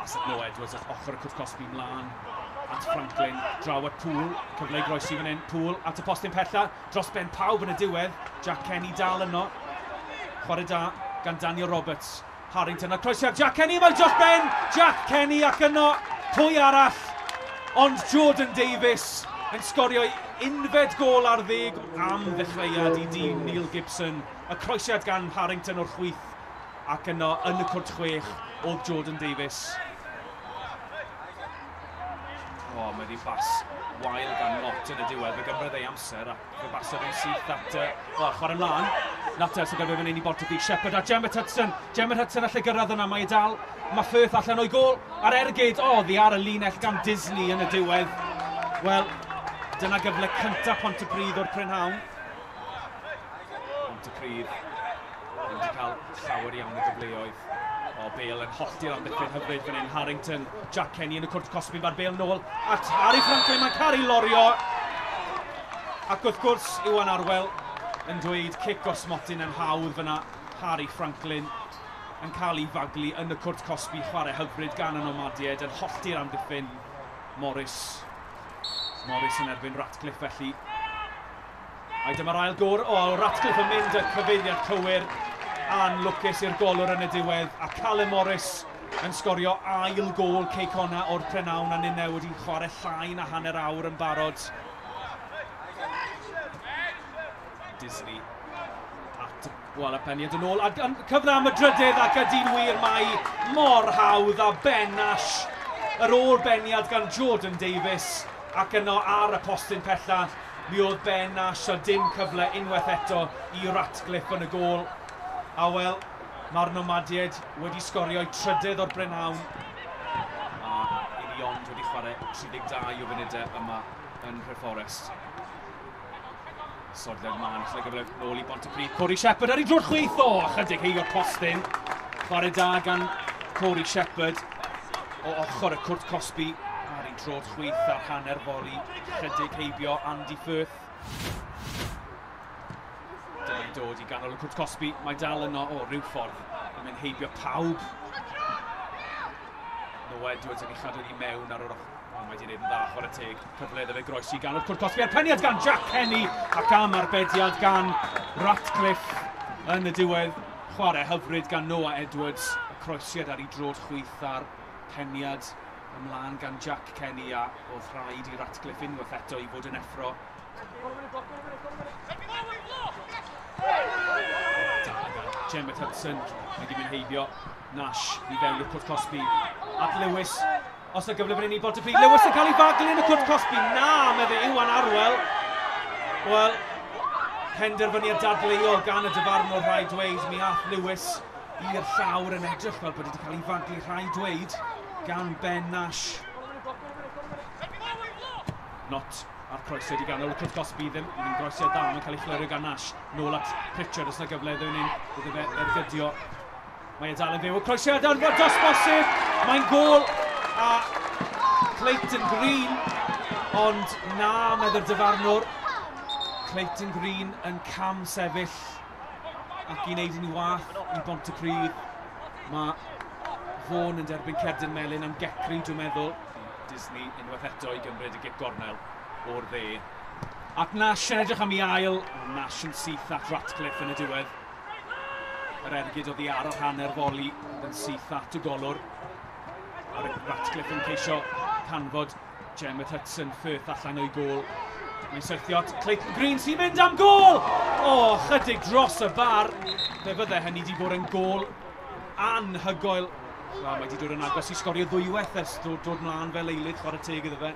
Bas at Noah Edwards at ochr y cwrt cosbi mlaen at Franklin, draw at Poole, cyfle i groesi fan hyn, Poole at y postyn pella, dros ben pawb yn y diwedd, Jack Kenny dal yno, chwarae da gan Daniel Roberts, Harrington a croesiad Jack Kenny, mae dros ben, Jack Kenny ac yno, pwy arall, ond Jordan Davies yn sgorio unfed gôl ar ddeg am ddechreuad i dîm Neil Gibson, y croesiad gan Harrington o'r chwith ac yno yn y cwrt chwech oedd Jordan Davies. O, mae wedi bas wael gan Nott yn y diwedd. Fe gymryd ei amser ac fe basodd e'n syth at... O, chwarae ymlaen. Natter sy'n gyfer fan hyn i Bontypridd. Shepherd a Gemma Hudson. Gemma Hudson allai gyrraedd yna. Mae e dal. Mae Firth allan o'i gôl. Ar ergyd. O, ddi ar y linell gan Disley yn y diwedd. Wel, dyna gyfle cyntaf Pontypridd o'r prynhawn. Pontypridd ddim wedi cael llawer iawn o gyfleoedd. O, Bale yn hollti'r amddiffyn hyfryd fan hyn. Harrington, Jack Kenny yn y cwrt cosbi, mae'r Bale nôl at Harry Franklin, mae'n cael ei lorio. Ac wrth gwrs, Iwan Arwel yn dweud cic o'r smotyn yn hawdd fyna. Harry Franklin yn cael ei faglu yn y cwrt cosbi, chwarae hyfryd gan y Nomadiaid yn hollti'r amddiffyn. Morris. Morris yn erbyn Ratcliffe felly. A dyma'r ail gôr. O, Ratcliffe yn mynd y cyfeiriad cywir. Anlwcus i'r golwr yn y diwedd. A Callum Morris yn sgorio ail gôl Cei Connah o'r prynhawn a ninne wedi chwarae llai na hanner awr yn barod. Disley at wel, y peniad yn ôl. A cyfle am y drydydd ac ydy'n wir mae mor hawdd a Ben Nash. Yr ôl beniad gan Jordan Davies ac yno ar y postyn pella mi oedd Ben Nash a dim cyfle unwaith eto i Ratcliffe yn y gôl. A wel, mae'r Nomadiaid wedi sgorio eu trydydd o'r brynhawn. A i ni ond wedi chwarae 32 o funudau yma yn Nhreforest. Sodled man, lle gyfle nôl i Bontypridd. Corey Shepherd ar ei drw'r chwith o, chydig heibio'r postyn. Chwarae da gan Corey Shepherd o ochr y cwrt cosbi ar ei drod chwith ar hanner foli. Chydig heibio Andy Firth. Dyma'n dod i ganol y cwrt cosbi. Mae dal yno o ryw ffordd yn mynd heibio pawb. Noah Edwards yn ei chadw i mewn ar yr ochr. O, mae wedi gwneud yn dda, chwarae teg. Cyfle iddo fe groesi ganol cwrt cosbi. A'r peniad gan Jack Kenny ac am arbediad gan Ratcliffe yn y diwedd. Chwarae hyfryd gan Noah Edwards. Y croesiad ar ei drod chwith a'r peniad ymlaen gan Jack Kenny a oedd rhaid i Ratcliffe unwaith eto i fod yn effro. Gemma Hudson, mae wedi mynd heibio Nash i fewn i'r cwrt cosbi. At Lewis, os yna gyfle fan hyn i Bontypridd. Lewis yn cael ei faglu yn y cwrt cosbi. Na, medde Iwan Arwel. Wel, penderfyniad dadleuol gan y dyfarnwr rhaid dweud. Mi ath Lewis i'r llawr yn edrych fel bod wedi cael ei faglu rhaid dweud gan Ben Nash. Not a'r croesiad i ganol y cwrt cosbi ddim yn groesiad dda, mae'n cael ei chlirio gan Nash. Nôl at Pritchard, os yna gyfle iddo hyn, iddo fe ergydio. Mae e dal yn fyw, y croesiad yn fod dos bosib, mae'n gôl a Clayton Green, ond na, meddy'r dyfarnwr. Clayton Green yn cam sefyll ac i wneud yn wath i Bontypridd. Mae Vaughan yn derbyn cerdyn melyn am gecri, dwi'n meddwl. Disley unwaith eto i gymryd y gic gornel o'r dde. Ac Nash yn edrych am ei ail. Nash yn syth at Ratcliffe yn y diwedd. Yr ergyd oddi ar yr hanner foli yn syth at y golwr. A Ratcliffe yn ceisio canfod Gemma Hudson Firth allan o'i gôl. Mae'n syrthio at Clayton Green sy'n mynd am gôl! O, chydig dros y bar. Fe fydde hynny wedi bod yn gôl anhygoel. Wel, mae wedi dod yn agos i sgorio ddwywaith ers dod mlaen fel eilydd, chwarae teg iddo fe.